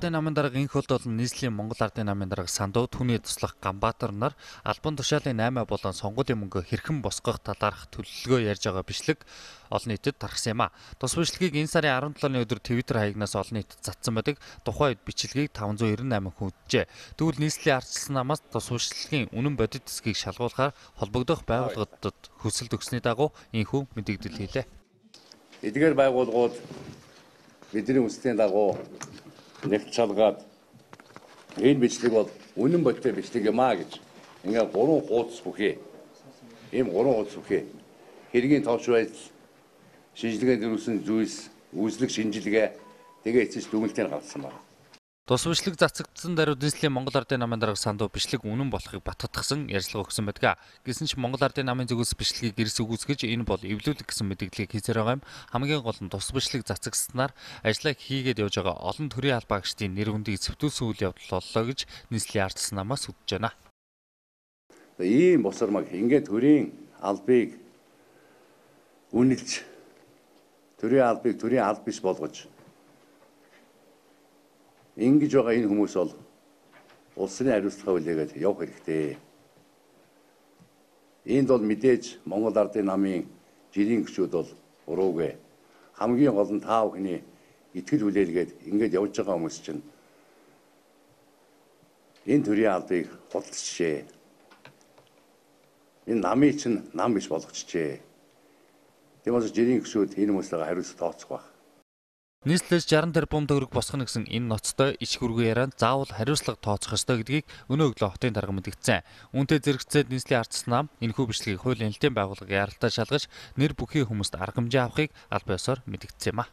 Ардын намын дарга инх болд болон нийслэлийн Монгол Ардын намын дарга Сандуу түүний туслах Ганбаатар нар албан тушаалын 8 болон сонгуулийн мөнгө хэрхэн босгох талаарх төлөвлөгөө ярьж байгаа бичлэг олон нийтэд тархсан юм а. Тус бичлэгийг энэ сарын 17-ны өдөр Twitter хаягнаас олон нийтэд цацсан байдаг. Тухайн үед бичлэгийг 598 хүн үзжээ. Тэгвэл нийслэлийн ардчилсан намаас тус бичлэгийн үнэн бодит хэсгийг шалгуулахаар холбогдох байгууллагуудад хүсэлт өгсөний дагуу энэхүү мэдээлэл хийлээ. Эдгээр байгууллагууд бидний хүслийн дагуу нэгт шалгаад энэ бичлэг бол үнэн бодит бичлэг юм а гэж ингээд 3 хуудас бүхий. Ийм 3 хуудас бүхий. Хэргийн тооч байдал, шинжилгээнд өрүүлсэн зүйлс, үүслэг шинжилгээ тэгээ эцэс дүгнэлтээр гаргасан байна. Тус бичлэг цацагдсан даруй нийслэлийн Монгол Ардын намын дарга Сандуу бичлэг үнэн болохыг баттгахсан ярилцлага өгсөн байдаг. Гэсэн ч Монгол Ардын намын зүгээс бичлэгийг гэрс үгүйсгэж энэ бол эвлүүлэг гэсэн мэдээллийг хийсээр байгаа юм. Хамгийн гол нь тус бичлэг цацагснаар ажиллаа хийгээд явж байгаа олон төрлийн албаагчдын нэр хүндийг зөвтүүлсэн үйл явдал боллоо гэж нийслэлийн ардчилсан намаас үдэж байна. Ийм босармаг ингээд төрийн албыг үнэлж төрийн албыг төрийн алба биш болгож ингэж байгаа энэ хүмүүс бол улсын хариуцлага хүлээгээд явах хэрэгтэй. Энд бол мэдээж Монгол Ардын намын жирийн гишүүд бол буруугүй. Хамгийн гол нь та бүхний итгэл хүлээлгээд ингэж явж байгаа хүмүүс чинь энэ төрийн албыг худалдчихжээ. Энэ намыг чинь нам биш болгочихжээ. Тэгмээс жирийн гишүүд энэ хүмүүстэйгээ хариуцлага тооцох байх. Нийслэлд 60 тэрбум төгрөг босгоно гэсэн энэ ноцтой иш хөргөө ярианд заавал хариуцлага тооцох ёстой гэдгийг өнөө өглөө хотын дарга мэдгдсэн. Үүнтэй зэрэгцээд нийслэлийн ардчилсан нам энэхүү бичлэгийг хуулийн элтийн байгууллагын яралтай шалгаж нэр бүхий хүмүүст арга хэмжээ авахыг аль биесээр мэдгдсэн юм а.